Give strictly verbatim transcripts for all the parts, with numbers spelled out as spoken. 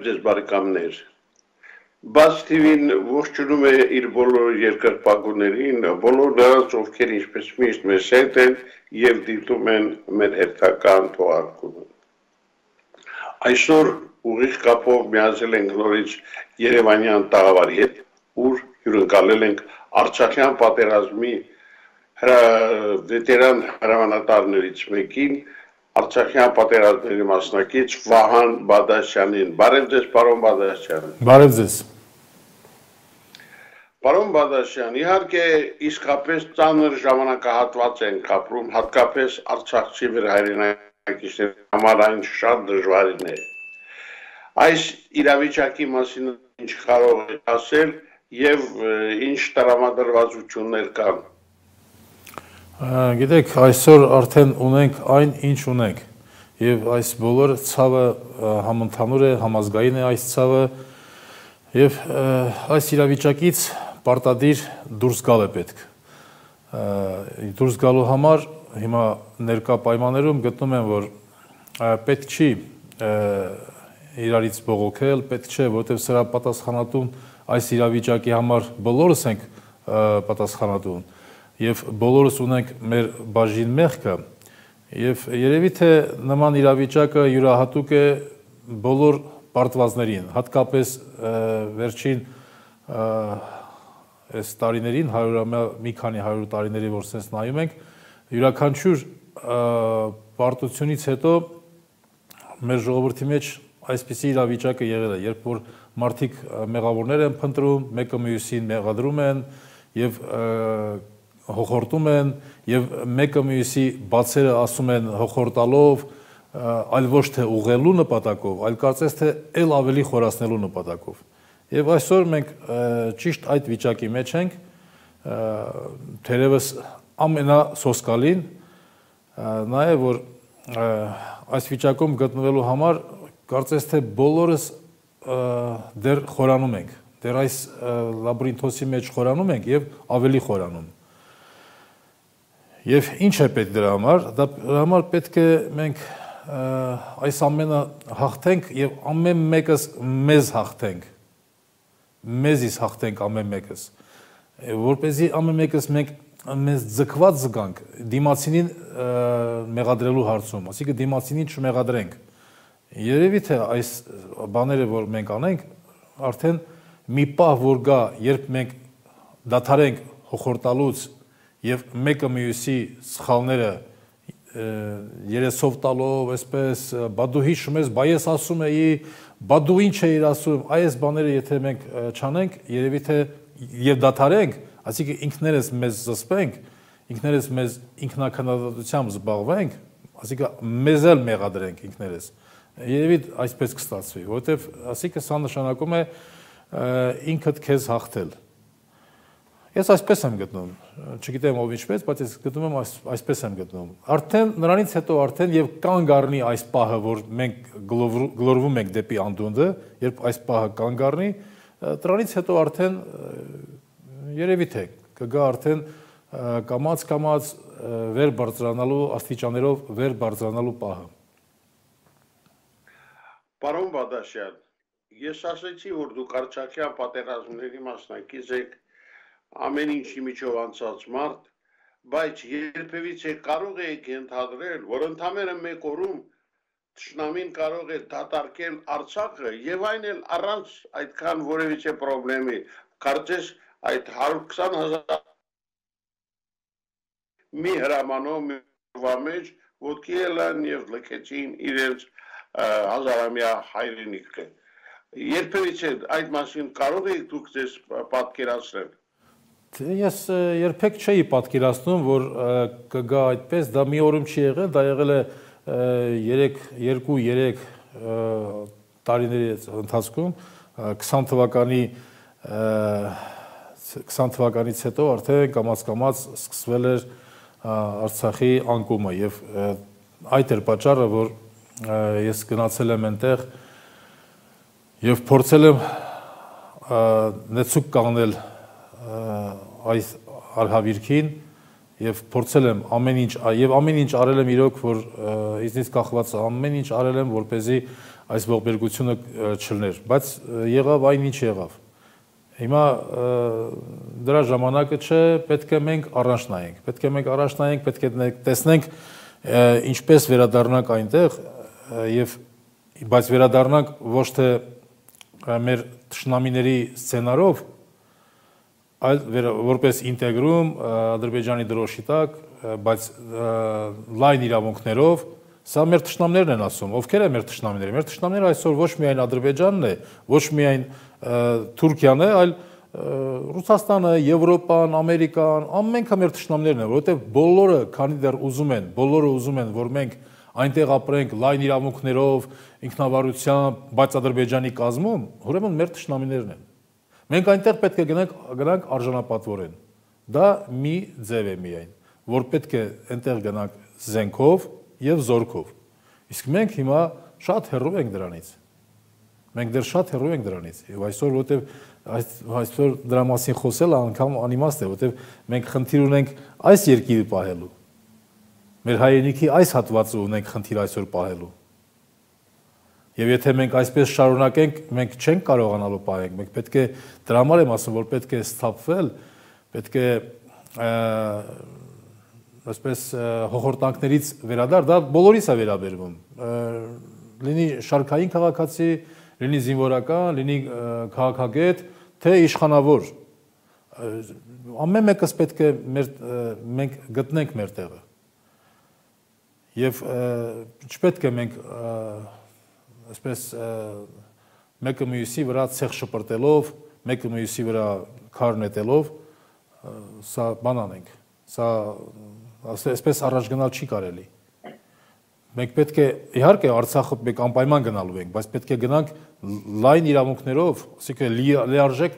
ձեզ բարեկամներ։ Բաց թիվին ողջունում է իր բոլոր երկրպագուներին, բոլոր նրանց, ովքեր ինչպես միշտ մեզ հետ են եւ դիտում են մեր հերթական թողարկումը։ Այսօր ուղիղ կապով միացել ենք նորից Երևանյան տաղավարի հետ, ուր հյուրընկալել ենք Արցախյան պատերազմի վետերան հրամանատարներից մեկին, Արցախյան պատերազմների մասնակից Վահան Բադասյանին։ Բարև ձեզ, պարոն Բադասյան։ Բարև ձեզ։ Պարոն Բադասյան, իհարկե իսկապես ծանր ժամանակահատված ենք ապրում, հատկապես արցախցի վերհայրենակիցների համար այն շատ դժվարին է։ Այս իրավիճակի մասին ինչ կարող եք ասել եւ ինչ տրամադրվածություններ կան։ Գիտեք, այսօր արդեն ունենք այն, ինչ ունենք, եւ այս բոլոր ցավը համընդհանուր է, համազգային է այս ցավը, եւ այս իրավիճակից պարտադիր դուրս գալ է պետք։ Դուրս գալու համար հիմա ներկա պայմաններում գտնում եմ, որ պետք չի իրարից բողոքել, պետք չէ, որովհետեւ սրա պատասխանատուն այս իրավիճակի համար բոլորս ենք պատասխանատուն։ Եվ բոլորս ունենք մեր բաժին մեղքը, եւ երևի թե նման իրավիճակը յուրահատուկ է բոլոր պարտվածներին, հատկապես վերջին այս տարիներին, մի քանի հարյուր տարիների, որ սենց նայում ենք, յուրաքանչյուր պարտությունից հետո մեր ժողովրդի մեջ այսպիսի իրավիճակը եղել է, երբ որ մարդիկ մեղավորներ են փնտրում, մեկը մյուսին մեղադրում են եւ հոխորտում են եւ մեկը մյուսի բացերը ասում են հոխորտալով, այլ ոչ թե ուղղելու նպատակով, այլ կարծես թե ել ավելի խորացնելու նպատակով։ Եվ այսօր մենք ճիշտ այդ վիճակի մեջ ենք, թերևս ամենասոսկալին նա է, որ այս վիճակում գտնվելու համար կարծես թե բոլորս դեռ խորանում ենք, դեռ այս լաբրինթոսի մեջ խորանում ենք եւ ավելի խորանում։ Եվ ինչ է պետք դրա համար, դրա համար պետք է մենք այս ամենը հաղթենք եւ ամեն մեկս մեզ հաղթենք, մեզից հաղթենք ամեն մեկս, որպեսզի ամեն մեկս մենք մեզ ձգված զգանք դիմացինին մեղադրելու հարցում, այսինքն դիմացինին չմեղադրենք։ Երևի թե այս բաները, որ մենք անենք, արդեն մի պահ որ գա, երբ մենք դադարենք հոխորտալուց եւ մեկը մյուսի սխալները երեսով տալով, այսպես, բա դու հիշում ես, բա ես ասում էի, բա դու ինչ էիր ասում, այս բաները եթե մենք չանենք, երևի թե եւ դադարենք, այսինքն ինքներս մեզ զսպենք, ինքներս մեզ ինքնակնդատությամբ զբաղվենք, այսինքն մեզ էլ մեղադրենք ինքներս։ Երևի այսպես կստացվի, որովհետեւ այսինքն սա նշանակում է ինքդ քեզ հաղթել։ Ես այսպես եմ գտնում, չգիտեմ ով ինչպես, բայց ես գտնում եմ այսպես եմ գտնում։ Արդեն նրանից հետո արդեն եւ կանգ առնի այս պահը, որ մենք գլորվում ենք դեպի անդունդը, երբ այս պահը կանգ առնի, դրանից հետո արդեն երևի թե կգա արդեն կամած-կամած վեր բարձրանալու աստիճաներով վեր բարձրանալու պահը։ Պարոն Բադասյան, ես ասացի, որ դուք Արցախյան պատերազմների մասնակից եք, ամեն ինչի միջով անցած մարդ, բայց երբևիցե կարող եք ենթադրել, որ ընդամենը մեկ օրում թշնամին կարող է դատարկել Արցախը եւ այն էլ առանց այդքան որևիցե խնդրի, կարծես այդ հարյուր քսան հազար մի հրամանով մի վամեջ ոտքի ելան եւ լքեցին իրենց հազարամյա հայրենիքը։ Երբևիցե այդ մասին կարող եք դուք ձեզ պատկերացնել։ Ես երբեք չէի պատկերացնում, որ կգա այդպես, դա մի օրում չի եղել, դա եղել է երկու-երեք տարիների ընթացքում, քսան թվականի քսան թվականից հետո արդեն կամաց-կամաց սկսվել էր Արցախի անկումը եւ այդ էր պատճառը, որ ես գնացել եմ այնտեղ եւ փորձել եմ նեցուկ կանգնել այս արհավիրքին եւ փորձել եմ ամեն ինչ եւ ամեն ինչ արել եմ իրոք, որ իզնից կախված ամեն ինչ արել եմ, որպեսզի այս ողբերգությունը չլներ, բայց եղավ այն ինչ եղավ։ Հիմա դրա ժամանակը չէ, պետք է մենք առաջ նայենք, պետք է մենք առաջ նայենք, պետք է տեսնենք ինչպես վերադառնանք այնտեղ եւ բայց վերադառնանք ոչ թե մեր թշնամիների սցենարով, այլ որպես ինտեգրում Ադրբեջանի դրոշի տակ, բայց լայն իրավունքներով, սա մեր թշնամներն են ասում, ովքեր են մեր թշնամիները։ Մեր թշնամները այսօր ոչ միայն Ադրբեջանն է, ոչ միայն Թուրքիան է, այլ Ռուսաստանը, Եվրոպան, Ամերիկան, ամենքը մեր թշնամներն են, որովհետև բոլորը, քանի դեռ ուզում են, բոլորը ուզում են, որ մենք այնտեղ ապրենք լայն իրավունքներով, ինքնավարությամբ, բայց Ադրբեջանի կազմում, ուրեմն մեր թշնամիներն են։ Մենք այնտեղ պետք է գնանք, գնանք արժանապատվորեն։ Դա մի ձև է միայն, որ պետք է այնտեղ գնանք զենքով եւ զորքով։ Իսկ մենք հիմա շատ հեռու ենք դրանից։ Մենք դեռ շատ հեռու ենք դրանից։ Եվ այսօր որտեվ այսօր դրա մասին խոսելը անգամ անիմաստ է, որտեվ մենք խնդիր ունենք այս երկիրը պահելու։ Մեր հայրենիքի այս հատվածը ունենք խնդիր այսօր պահելու։ Եվ եթե մենք այսպես շարունակենք, մենք չենք կարողանալու պահենք, մենք պետք է դրա համար եմ ասում, որ պետք է սթափվել, պետք է այսպես հողորտանքներից վերադառ, դա բոլորիս է վերաբերվում։ Լինի շարքային քաղաքացի, լինի զինվորական, լինի քաղաքագետ, թե իշխանավոր։ Ամեն մեկս պետք է մենք գտնենք մեր տեղը։ Եվ չպետք է մենք այսպես մեկը մյուսի վրա ցեղ շպրտելով, մեկը մյուսի վրա քար նետելով, սա բան անենք, սա այսպես առաջ գնալ չի կարելի։ Մենք պետք է, իհարկե Արցախը մենք անպայման գնալու ենք, բայց պետք է գնանք լայն իրավունքներով, ասիկա լիարժեք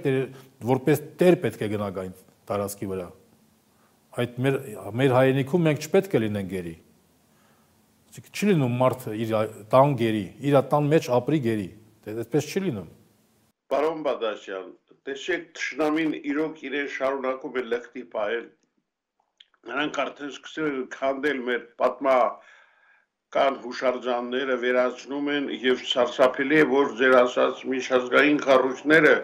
որպես տեր պետք է գնանք այն տարածքի վրա։ Այդ մեր մեր հայրենիքում մենք չպետք է լինենք գերի։ Չի լինում մարդը իր տան գերի, իր տան մեջ ապրի գերի, այդպես չի լինում։ Պարոն Բադասյան, տեսեք թշնամին իրոք իրեն շարունակում է լկտի պահել, նրանք արդեն սկսել են քանդել մեր պատմական հուշարձանները, վերացնում են եւ սարսափելի է, որ ձեր ասած միջազգային կառույցները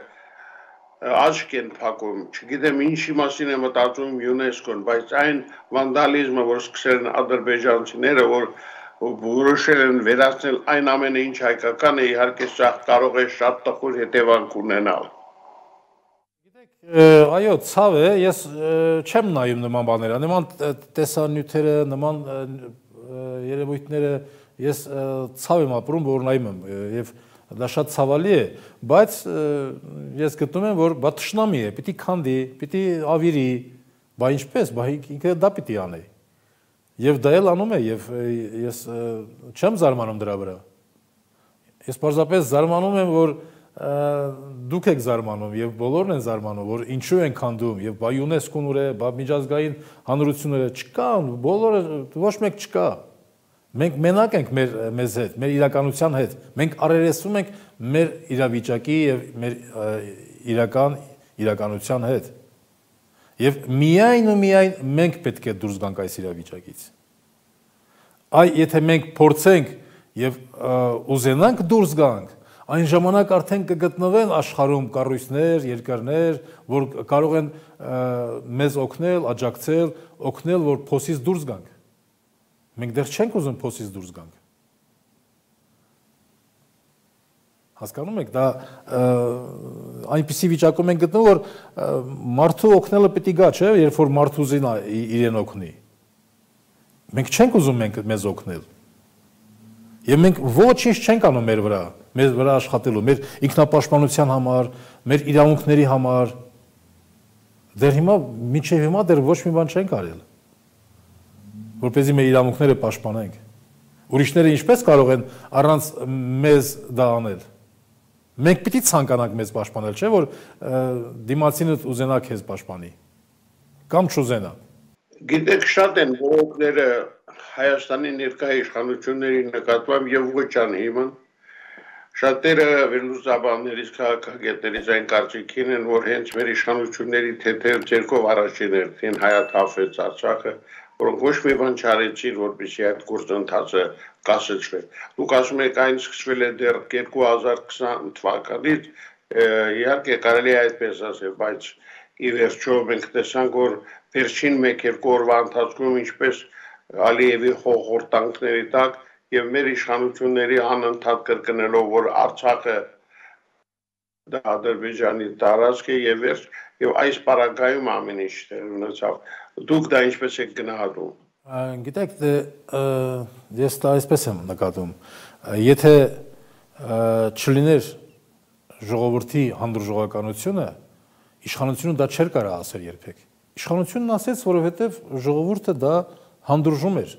աչք են փակում, չգիտեմ ինչի մասին է մտածում ՅՈՒՆԵՍԿՕ-ն, բայց այն վանդալիզմը, որ սկսել են ադրբեջանցիները, որ որոշել են վերացնել այն ամենը ինչ հայկական է, իհարկե սա կարող է շատ տխուր հետևանք ունենալ։ Գիտեք, այո, ցավ է, ես չեմ նայում նման բաները, նման տեսանյութերը, նման երևույթները ես ցավ եմ ապրում, որ նայում եմ եւ դա շատ ցավալի է, բայց ես գտնում եմ, որ բա թշնամի է, պիտի քանդի, պիտի ավիրի, բա ինչպես, բա ինքը դա պիտի անի։ Եվ դա էլ անում է, եւ ես չեմ զարմանում դրա վրա։ Ես պարզապես զարմանում եմ, որ դուք եք զարմանում եւ բոլորն են զարմանում, որ ինչու են քանդում եւ բա ՅՈՒՆԵՍԿՕ-ն ուր է, բա միջազգային հանրությունները չկան, բոլորը ոչ մեկ չկա։ Մենք մենակ ենք մեր մեզ հետ, մեր իրականության հետ։ Մենք առերեսվում ենք մեր իրավիճակի եւ մեր իրական իրականության հետ։ Եվ միայն ու միայն մենք պետք է դուրս գանք այս իրավիճակից։ Այ եթե մենք փորձենք եւ ուզենանք դուրս գանք, այն ժամանակ արդեն կգտնվեն աշխարհում կառույցներ, երկրներ, որ կարող են մեզ օգնել, աջակցել, օգնել, որ փոսից դուրս գանք։ Մենք դեռ չենք ուզում փոսից դուրս գանք։ Հասկանում եք, դա այնպիսի վիճակում ենք գտնվում, որ մարդու օգնելը պիտի գա, չէ, երբ որ մարդու զին իրեն օգնի։ Մենք չենք ուզում մենք մեզ օգնել։ Եվ մենք ոչինչ չենք անում մեր վրա, մեր վրա աշխատելու, մեր ինքնապաշտպանության համար, մեր իրավունքների համար։ Դեռ հիմա մինչև հիմա դեռ ոչ մի բան չենք արել, որպեսզի մեր իրավունքները պաշտպանենք։ Ուրիշները ինչպես կարող են առանց մեզ դա անել։ Մենք պիտի ցանկանանք մեզ պաշտպանել, չէ՞ որ դիմացինը ուզենա քեզ պաշտպանի կամ չուզենա։ Գիտեք, շատ են բողոքները Հայաստանի ներկայ իշխանությունների նկատմամբ եւ ոչ անհիմն։ Շատերը վերլուծաբաններից, քաղաքագետներից այն կարծիքին են, որ հենց մեր իշխանությունների թեթև ձեռքով առաջին հերթին հայաթափվեց Արցախը, որոնք ոչ մի բան չարեցին, որպեսզի այդ գործընթացը կասեցվի։ Դուք ասում եք այն սկսվել է դեռ երկու հազար քսան թվականից, իհարկե կարելի է այդպես ասել, բայց ի վերջո մենք տեսանք, որ վերջին մեկ-երկու օրվա ընթացքում ինչպես Ալիևի խորհրդանքների տակ եւ մեր իշխանությունների անընդհատ կրկնելով, որ Արցախը դա Ադրբեջանի տարածք է եւ վերջ եւ այս պարագայում ամեն ինչ տեղ ունեցավ։ Դուք դա ինչպես եք գնահատում։ Գիտեք, ես դա այսպես եմ նկատում։ Եթե չլիներ ժողովրդի հանդուրժողականությունը, իշխանությունը դա չէր կարող ասել երբեք։ Իշխանությունն ասեց, որովհետեւ ժողովուրդը դա հանդուրժում էր։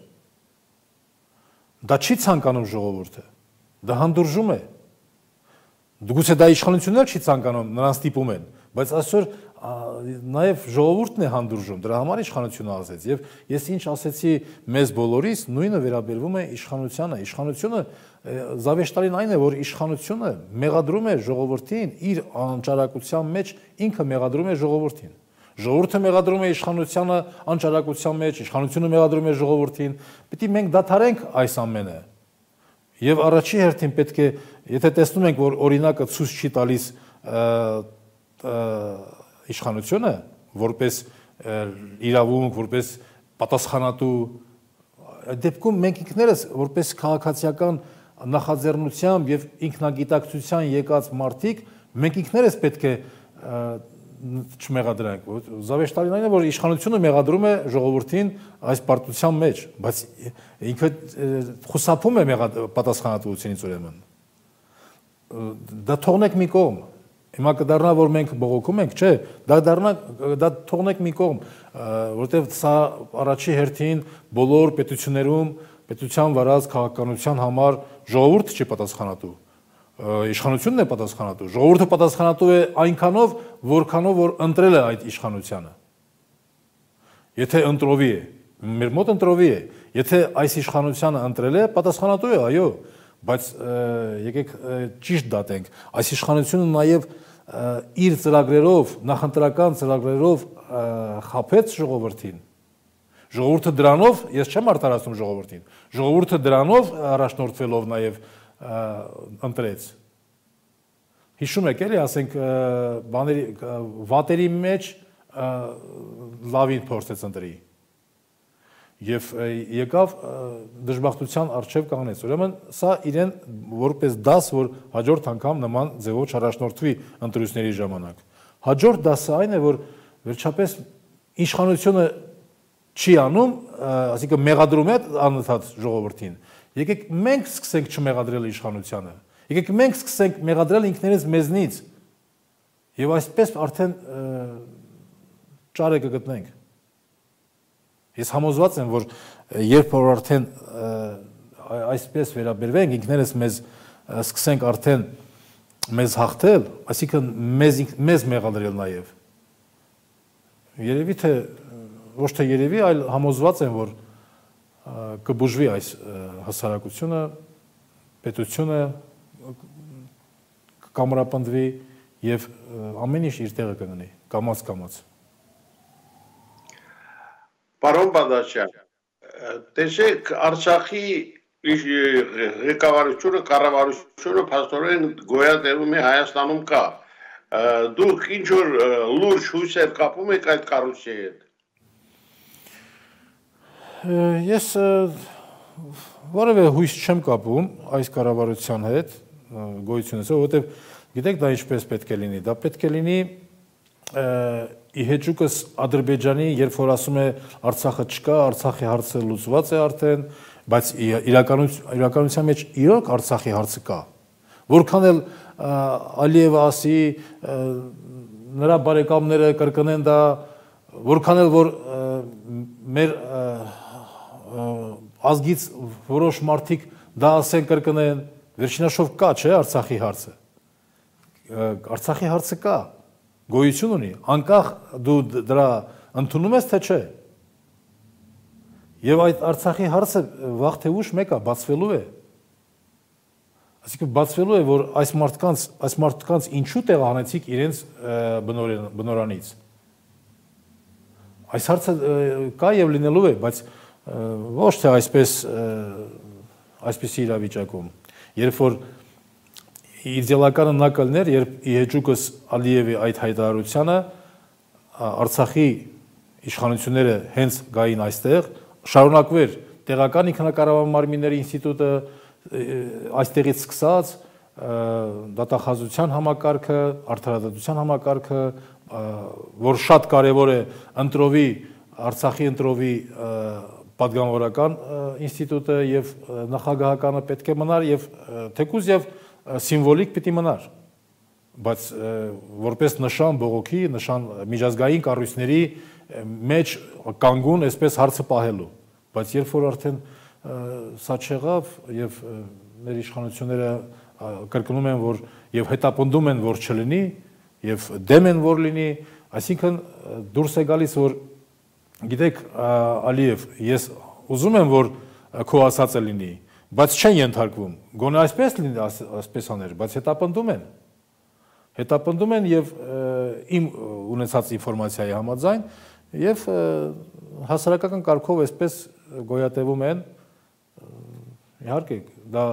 Դա չի ցանկանում ժողովուրդը, դա հանդուրժում է։ Գուցե դա իշխանությունն էլ չի ցանկանում, նրանց ստիպում են, բայց այսօր նաև ժողովուրդն է հանդուրժում, դրա համար իշխանությունը ասեց։ Եվ ես ինչ ասեցի մեզ բոլորիս, նույնը վերաբերվում է իշխանությանը։ Իշխանությունը զավեշտալին այն է, որ իշխանությունը մեղադրում է ժողովրդին իր անճարակության մեջ, ինքը մեղադրում է ժողովրդին։ Ժողովուրդը մեղադրում է իշխանությանը անճարակության մեջ, իշխանությունը մեղադրում է ժողովրդին։ Պետք է մենք դադարենք այս ամենը։ Եվ առաջի հերթին պետք է, եթե տեսնում ենք, որ օրինակը ցույց չի տալիս իշխանությունը, որպես իրավունք, որպես պատասխանատու, դեպքում մենք ինքներս որպես քաղաքացիական նախաձեռնությամբ եւ ինքնագիտակցության եկած մարդիկ, մենք ինքներս պետք է չմեղադրենք։ Զավեշտալին այն է, որ իշխանությունը մեղադրում է ժողովրդին այս պարտության մեջ, բայց ինքը խուսափում է պատասխանատվությունից ուրեմն։ Դա թողնենք մի կողմ։ Հիմա կդառնա, որ մենք բողոքում ենք, չէ, դա դառնա, դա թողնենք մի կողմ, որովհետև սա առաջի հերթին բոլոր պետություններում պետության վարած քաղաքականության համար ժողովուրդը չի պատասխանատու, իշխանությունն է պատասխանատու, ժողովուրդը պատասխանատու է այնքանով, որքանով որ ընտրել է այդ իշխանությանը։ Եթե ընտրովի է, մեր մոտ ընտրովի է, եթե այս իշխանությանը ընտրել է, պատասխանատու է, այո, բայց եկեք ճիշտ դատենք, այս իշխանությունը նաև իր ծրագրերով, նախընտրական ծրագրերով խաբեց ժողովրդին։ Ժողովուրդը դրանով, ես չեմ արտարացնում ժողովրդին, ժողովուրդը դրանով առաջնորդվելով նաև ընտրեց։ Հիշում եք էլի, ասենք բաների վատերի մեջ լավին փորձեց ընտրի։ Եվ եկավ դժբախտության առջև կանգնեց։ Ուրեմն սա իրեն որպես դաս, որ հաջորդ անգամ նման ձևով չառաջնորդվի ընտրությունների ժամանակ։ Հաջորդ դասը այն է, որ վերջապես իշխանությունը չի անում, այսինքն մեղադրում է անընդհատ ժողովրդին։ Եկեք մենք սկսենք չմեղադրել իշխանությանը։ Եկեք մենք սկսենք մեղադրել ինքներս մեզնից։ Եվ այսպես արդեն ճարը կգտնենք։ Ես համոզված եմ, որ երբ որ արդեն այսպես վերաբերվենք, ինքներս մեզ սկսենք արդեն մեզ հաղթել, այսինքն մեզ մեզ մեղադրել նաև։ Երևի թե ոչ թե երևի, այլ համոզված եմ, որ կբուժվի այս հասարակությունը, պետությունը կամրապնդվի եւ ամեն ինչ իր տեղը կգտնի, կամաց-կամաց։ Պարոն Բադասյան, տեսեք, Արցախի ղեկավարությունը, կառավարությունը փաստորեն գոյատևում է Հայաստանում կա։ Դուք ինչ որ լուրջ հույսեր կապում եք այդ կառույցի հետ։ Ես որևէ հույս չեմ կապում այս կառավարության հետ, գոյությունից, որովհետև գիտեք դա ինչպես պետք է լինի, դա պետք է լինի իհեճուկս Ադրբեջանի, երբ որ ասում է Արցախը չկա, Արցախի հարցը լուծված է արդեն, բայց իրականության մեջ իրոք Արցախի հարցը կա։ Որքան էլ Ալիևը ասի, նրա բարեկամները կրկնեն դա, որքան էլ որ մեր ազգից որոշ մարդիկ դա ասեն կրկնեն, վերջինաշով կա, չէ, Արցախի հարցը։ Արցախի հարցը կա, գոյություն ունի, անկախ դու դրա ընդունում ես թե չէ։ Եվ այդ Արցախի հարցը վաղ թե ուշ մեկը բացվելու է։ Այսինքն բացվելու է, որ այս մարդկանց, այս մարդկանց ինչու տեղահանեցիք իրենց բնորանից։ Այս հարցը կա եւ լինելու է, բայց ոչ թե այսպես այսպիսի իրավիճակում, երբ որ իդեալականը նա կլներ, երբ իհեճուկս Ալիևի այդ հայտարարությանը Արցախի իշխանությունները հենց գային այստեղ, շարունակվեր տեղական ինքնակառավարման մարմինների ինստիտուտը այստեղից սկսած դատախազության համակարգը, արդարադատության համակարգը, որ շատ կարևոր է ընտրովի Արցախի ընտրովի պատգամավորական ինստիտուտը եւ նախագահականը պետք է մնար եւ թեկուզ եւ սիմվոլիկ պիտի մնար, բայց որպես նշան բողոքի, նշան միջազգային կառույցների մեջ կանգուն այսպես հարցը պահելու, բայց երբ որ արդեն սա չեղավ եւ մեր իշխանությունները կրկնում են, որ եւ հետապնդում են, որ չլինի եւ դեմ են, որ լինի, այսինքն դուրս է գալիս, որ գիտեք, Ալիև, ես ուզում եմ, որ քո ասածը լինի, բայց չեն ենթարկվում, գոնե այսպես լինի, այսպես աներ, բայց հետապնդում են, հետապնդում են եւ իմ ունեցած ինֆորմացիայի համաձայն եւ հասարակական կարգով այսպես գոյատևում են, իհարկե, դա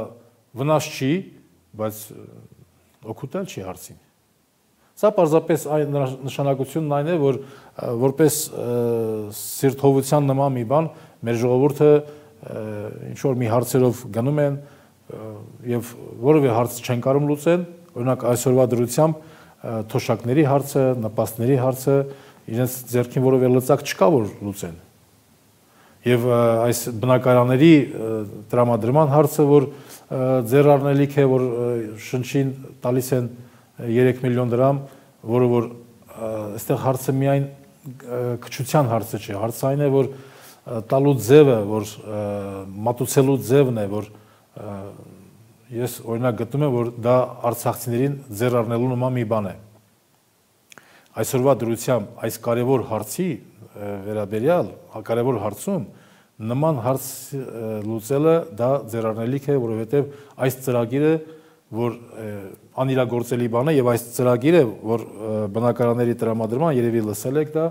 վնաս չի, բայց օգուտել չի հարցին։ Սա պարզապես այն նշանակությունն այն է, որ որպես սիրտհովության նման մի բան մեր ժողովուրդը ինչ-որ մի հարցերով գնում են եւ որևէ հարց չեն կարող լուծեն, օրինակ այսօրվա դրությամբ թոշակների հարցը, նպաստների հարցը իրենց ձեռքին որևէ լծակ չկա, որ լուծեն։ Եվ այս բնակարանների տրամադրման հարցը, որ ձեռառնելիք է, որ շնչին տալիս են երեք միլիոն դրամ, որը որ այստեղ հարցը միայն քչության հարցը չէ, հարցը այն է, որ տալու ձևը, որ մատուցելու ձևն է, որ ես օրինակ գտնում եմ, որ դա արցախցիներին ձեռառնելու նման մի բան է։ Այսօրվա դրությամբ այս կարևոր հարցի վերաբերյալ, կարևոր հարցում նման հարց լուծելը դա ձեռառնելիք է, որովհետև այս ծրագիրը, որ անիրագործելի բան է եւ այս ծրագիրը, որ բնակարանների տրամադրման երևի լսել եք դա,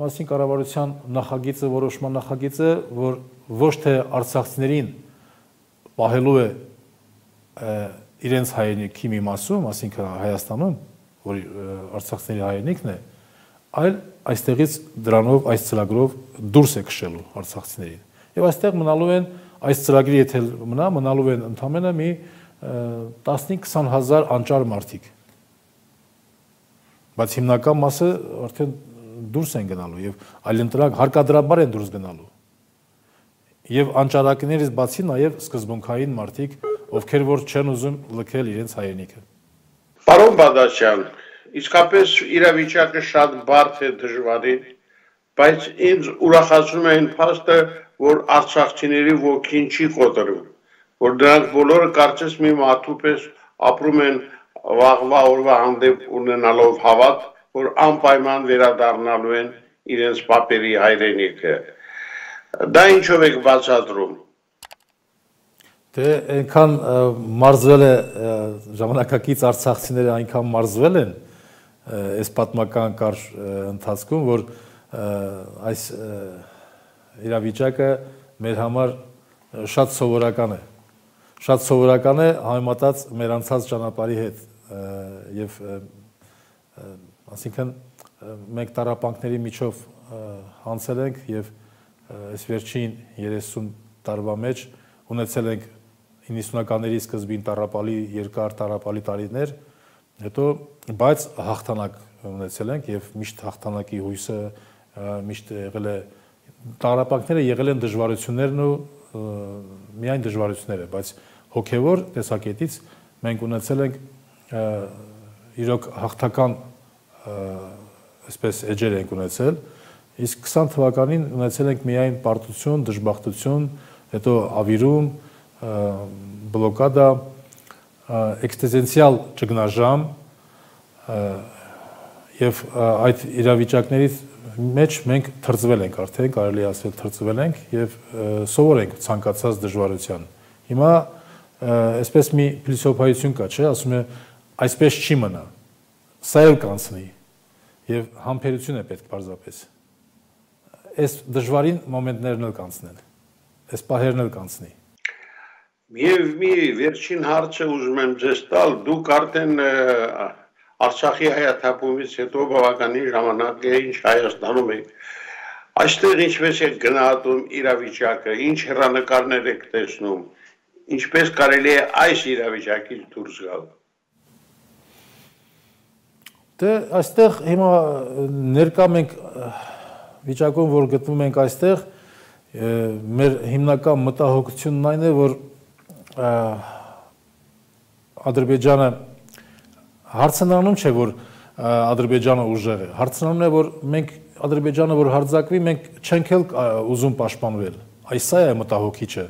մասին կառավարության նախագիծը, որոշման նախագիծը, որ ոչ թե արցախցիներին պահելու է իրենց հայրենիքի մի մասում, ասինքն Հայաստանում, որ արցախցիների հայրենիքն է, այլ այստեղից դրանով, այս ծրագրով դուրս է քշելու արցախցիներին։ Եվ այստեղ մնալու են, այս ծրագրի եթե մնա, մնալու են ընդամենը մի տասնհինգ-քսան հազար անճար մարդիկ։ Բայց հիմնական մասը արդեն դուրս են գնալու եւ այլընտրակ հարկադրաբար են դուրս գնալու։ Եվ անճարակներից բացի նաեւ սկզբունքային մարդիկ, ովքեր որ չեն ուզում լքել իրենց հայրենիքը։ Պարոն Բադասյան, իսկապես իրավիճակը շատ բարդ է դժվարին, բայց ինձ ուրախացնում է այն փաստը, որ արցախցիների ոգին չի կոտրում, որ դրանք բոլորը կարծես մի մարդու պես ապրում են վաղվա օրվա հանդեպ ունենալով հավատ, որ անպայման վերադառնալու են իրենց պապերի հայրենիքը։ Դա ինչով եք բացատրում։ Դե այնքան մարզվել է ժամանակակից արցախցիները այնքան մարզվել են այս պատմական կարճ ընթացքում, որ այս իրավիճակը մեր համար շատ սովորական է։ Շատ սովորական է համեմատած մեր անցած ճանապարհի հետ եւ ասինքն մենք տառապանքների միջով անցել ենք եւ այս վերջին երեսուն տարվա մեջ ունեցել ենք իննսունականների սկզբին տառապալի երկար տառապալի տարիներ, հետո բայց հաղթանակ ունեցել ենք եւ միշտ հաղթանակի հույսը միշտ եղել է, տառապանքները եղել են դժվարություններն ու միայն դժվարությունները, բայց հոգեվոր տեսակետից մենք ունեցել ենք իրոք հաղթական այսպես էջեր ենք ունեցել, իսկ քսան թվականին ունեցել ենք միայն պարտություն, դժբախտություն, հետո ավիրում, բլոկադա, էքստեզենցիալ ճգնաժամ եւ այդ իրավիճակներից մեջ մենք թրծվել ենք արդեն, կարելի ասել թրծվել ենք եւ սովոր ենք ցանկացած դժվարության։ Հիմա այսպես մի փիլիսոփայություն կա, չէ, ասում է այսպես չի մնա։ Սա էլ կանցնի եւ համբերություն է պետք պարզապես։ այս դժվարին մոմենտներն էլ կանցնեն, այս պահերն էլ կանցնի։ Եվ մի վերջին հարցը ուզում եմ ձեզ տալ, դուք արդեն Արցախի հայաթափումից հետո բավականին ժամանակ է ինչ Հայաստանում եք, այստեղ ինչպես եք գնահատում իրավիճակը, ինչ հեռանկարներ եք տեսնում, ինչպես կարելի է այս իրավիճակից դուրս գալ։ Դե այստեղ հիմա ներկա մենք վիճակում, որ գտնվում ենք այստեղ, մեր հիմնական մտահոգությունն այն է, որ Ադրբեջանը հարցնանում չէ, որ Ադրբեջանը ուժեղ է, հարցնանուն է, որ մենք Ադրբեջանը, որ հարձակվի, մենք չենք էլ ուզում պաշտպանվել, այս սա է մտահոգիչը,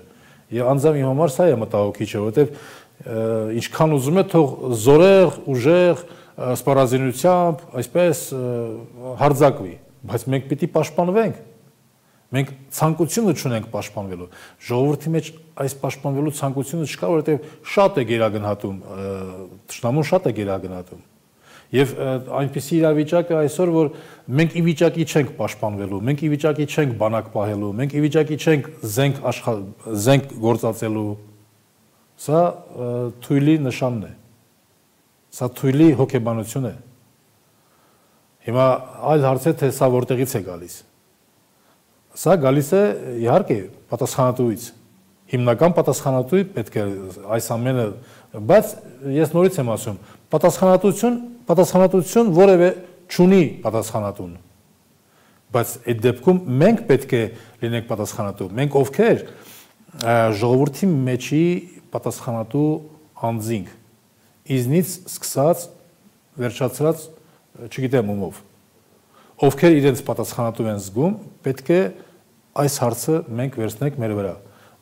և անձամբ իմ համար սա է մտահոգիչը, որովհետև ինչքան ուզում է, թող զորեղ, ուժեղ, սպառազինությամբ, այսպես հարձակվի, բայց մենք պիտի պաշտպանվենք, մենք ցանկությունը չունենք պաշտպանվելու, ժողովրդի մեջ այս պաշտպանվելու ցանկությունը չկա, որովհետև շատ է գերագնահատում, թշնամուն շատ է գերագնահատում, եւ այնպիսի իրավիճակ է այսօր, որ մենք ի վիճակի չենք պաշտպանվելու, մենք ի վիճակի չենք բանակ պահելու, մենք ի վիճակի չենք զենք զենք գործածելու, սա թույլի նշանն է, սա թույլի հոգեբանություն է, հիմա այլ հարց է, թե սա որտեղից է գալիս, սա գալիս է իհարկե պատասխանատուից, հիմնական պատասխանատուի պետք է այս ամենը, բայց ես նորից եմ ասում, պատասխանատվություն, պատասխանատվություն որևէ չունի պատասխանատուն, բայց այդ դեպքում մենք պետք է լինենք պատասխանատու, մենք ովքեր ժողովրդի մեջի պատասխանատու անձինք, իզնից սկսած, վերջացրած, չգիտեմ ումով, ովքեր իրենց պատասխանատու են զգում, պետք է այս հարցը մենք վերցնենք մեր վրա,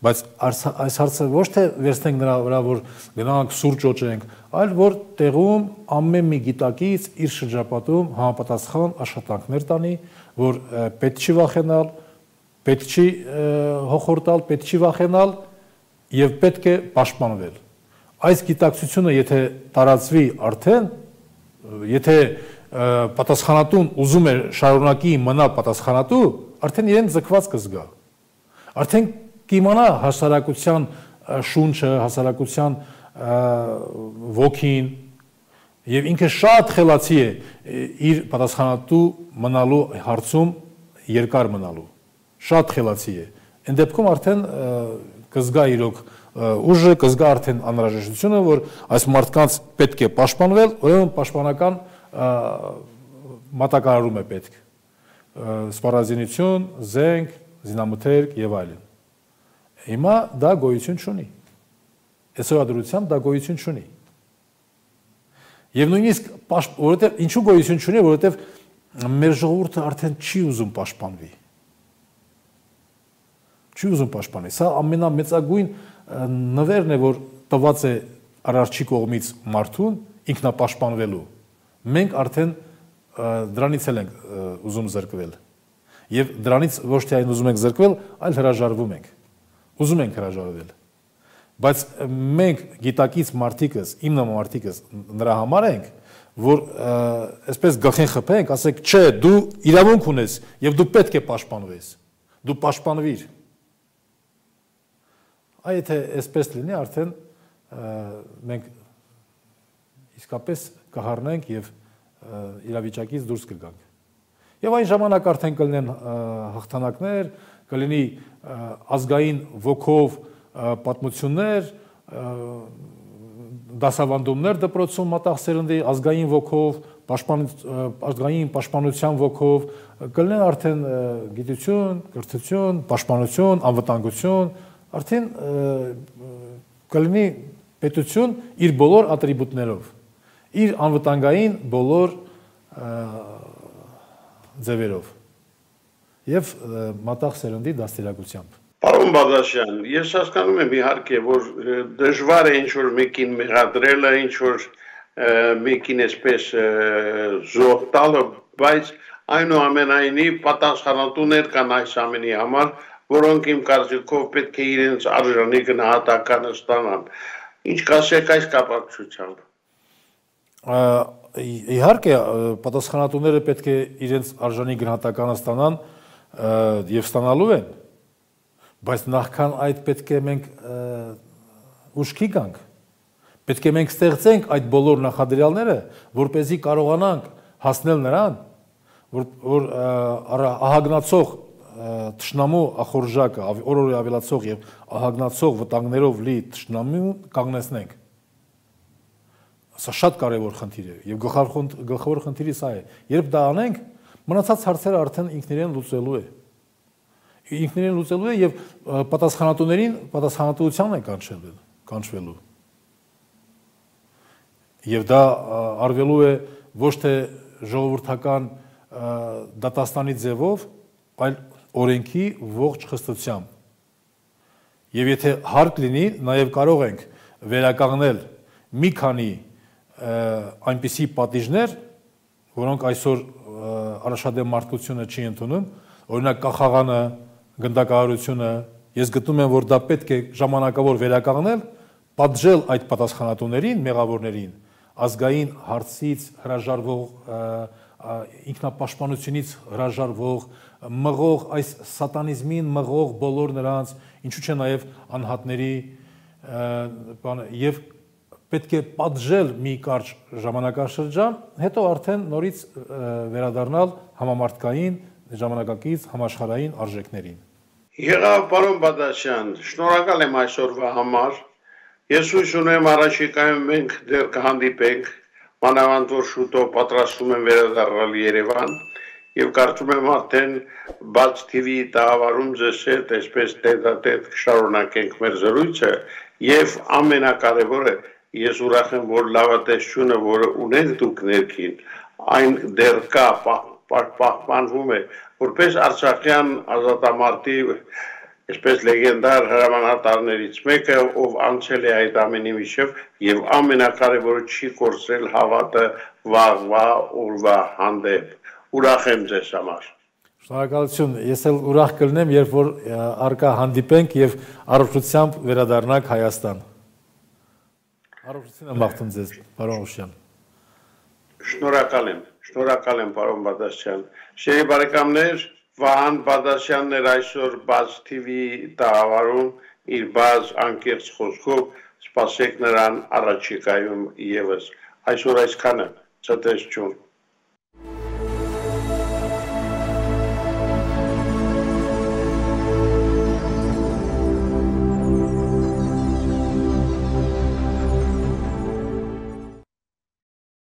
բայց այս հարցը ոչ թե վերցնենք նրա վրա, որ գնանք սուրճ օճենք, այլ որ տեղում ամեն մի գիտակից իր շրջապատում համապատասխան աշխատանքներ տանի, որ պետք չի վախենալ, պետք չի հոխորտալ, պետք չի վախենալ եւ պետք է պաշտպանվել։ Այս գիտակցությունը եթե տարածվի արդեն, եթե պատասխանատուն ուզում է շարունակի մնալ պատասխանատու, արդեն իրեն ձգված կզգա։ Արդեն կիմանա հասարակության շունչը, հասարակության ոգին եւ ինքը շատ խելացի է իր պատասխանատու մնալու հարցում երկար մնալու։ Շատ խելացի է։ Այն դեպքում արդեն կզգա իրոք ուժը, կզգա արդեն անհրաժեշտությունը, որ այս մարդկանց պետք է պաշտպանվել, ուրեմն պաշտպանական մատակարարում է պետք, սպառազինություն, զենք, զինամթերք եւ այլն։ Հիմա դա գոյություն չունի։ Այսօր դրությամբ դա գոյություն չունի։ Եվ նույնիսկ որովհետեւ ինչու գոյություն չունի, որովհետեւ մեր ժողովուրդը արդեն չի ուզում պաշտպանվի։ Չի ուզում պաշտպանել։ Սա ամենամեծագույն նվերն է, որ տված է արարչի կողմից մարդուն ինքնապաշտպանվելու։ Մենք արդեն դրանից էլ ենք ուզում զրկվել։ Եվ դրանից ոչ թե այն ուզում ենք զրկվել, այլ հրաժարվում ենք։ Ուզում ենք հրաժարվել։ Բայց մենք գիտակից մարդիկս, իմ նման մարդիկս նրա համար ենք, որ այսպես գլխին խփենք, ասենք, չէ, դու իրավունք ունես եւ դու պետք է պաշտպանվես։ Դու պաշտպանվիր։ Այ եթե այսպես լինի, արդեն մենք իսկապես կհառնենք եւ իրավիճակից դուրս կգանք։ Եվ այն ժամանակ արդեն կլինեն հաղթանակներ, կլինի ազգային ոգով պատմություններ, դասավանդումներ դպրոցում մատաղ սերնդի, ազգային ոգով, ազգային պաշտպանության ոգով, կլինեն արդեն գիտություն, կրթություն, պաշտպանություն, անվտանգություն, արդեն կլինի պետություն իր բոլոր ատրիբուտներով, իր անվտանգային բոլոր ձևերով եւ մատաղ սերնդի դաստիարակությամբ։ Պարոն Բադասյան, ես հասկանում եմ իհարկե, որ դժվար է ինչ-որ մեկին մեղադրելը, ինչ-որ մեկին այսպես զոհ տալը, բայց այնուամենայնիվ պատասխանատուներ կան այս ամենի համար, որոնք իմ կարծիքով պետք է իրենց արժանի գնահատականը ստանան։ Ինչ կասեք այս կապակցությամբ։ Իհարկե, պատասխանատուները պետք է իրենց արժանի գնահատականը ստանան, եւ ստանալու են, բայց նախքան այդ պետք է մենք ուշքի գանք, պետք է մենք ստեղծենք այդ բոլոր նախադրյալները, որպեսզի կարողանանք հասնել նրան, որ, որ ահագնացող թշնամու ախորժակը, օր-օրի ավելացող եւ ահագնացող վտանգներով լի թշնամու կանգնեցնենք։ Սա շատ կարևոր խնդիր է եւ գլխավոր խնդիրը սա է։ Երբ դա անենք, մնացած հարցերը արդեն ինքներեն լուծելու է։ Ինքներեն լուծելու է եւ պատասխանատուներին պատասխանատվության է կանչել, կանչվելու։ Եվ դա արվելու է ոչ թե ժողովրդական դատաստանի ձևով, այլ օրենքի ողջ խստությամբ։ Եվ եթե հարկ լինի, նաև կարող ենք վերականգնել մի քանի այնպիսի պատիժներ, որոնք այսօր առաջադեմ մարդկությունը չի ընդունում, օրինակ կախաղանը, գնդակահարությունը, ես գտնում եմ, որ դա պետք է ժամանակավոր վերականգնել, պատժել այդ պատասխանատուներին, մեղավորներին, ազգային հարցից հրաժարվող, ինքնապաշտպանությունից հրաժարվող, մղող այս սատանիզմին մղող բոլոր նրանց, ինչու՞ չէ նաև անհատների եւ պետք է պատժել մի կարճ ժամանակաշրջան, հետո արդեն նորից վերադառնալ համամարտկային, ժամանակակից համաշխարհային արժեքներին։ Եղավ պարոն Բադասյան, շնորհակալ եմ այսօրվա համար։ Ես հույս ունեմ առաջիկայում մենք դեռ կհանդիպենք, մանավանդ որ շուտով պատրաստում եմ վերադառնալ Երևան եւ կարծում եմ արդեն բաց թի վի տաղավարում ձեզ հետ այսպես տետատետ կշարունակենք մեր զրույցը եւ ամենակարևորը ես ուրախ եմ, որ լավատեսությունը, որը ունենք դուք ներքին, այն դեռ կա, պահպանվում է, որպես արցախյան ազատամարտի, այսպես լեգենդար հրամանատարներից մեկը, ով անցել է այդ ամենի միջև եւ ամենակարևորը չի կորցրել հավատը վաղվա օրվա հանդեպ։ Ուրախ եմ ձեզ համար։ Շնորհակալություն, ես էլ ուրախ կլինեմ, երբ որ առկա հանդիպենք եւ առողջությամբ վերադառնանք Հայաստան։ Առողջություն եմ մաղթում ձեզ, պարոն Օշյան։ Շնորհակալ եմ, շնորհակալ եմ, պարոն Բադասյան։ Շերի բարեկամներ, Վահան Բադասյանն էր այսօր բաց թի վի տաղավարում իր բաց անկեղծ խոսքով, սպասեք նրան առաջիկայում եւս։ Այսօր այսքանը, ցտեսություն։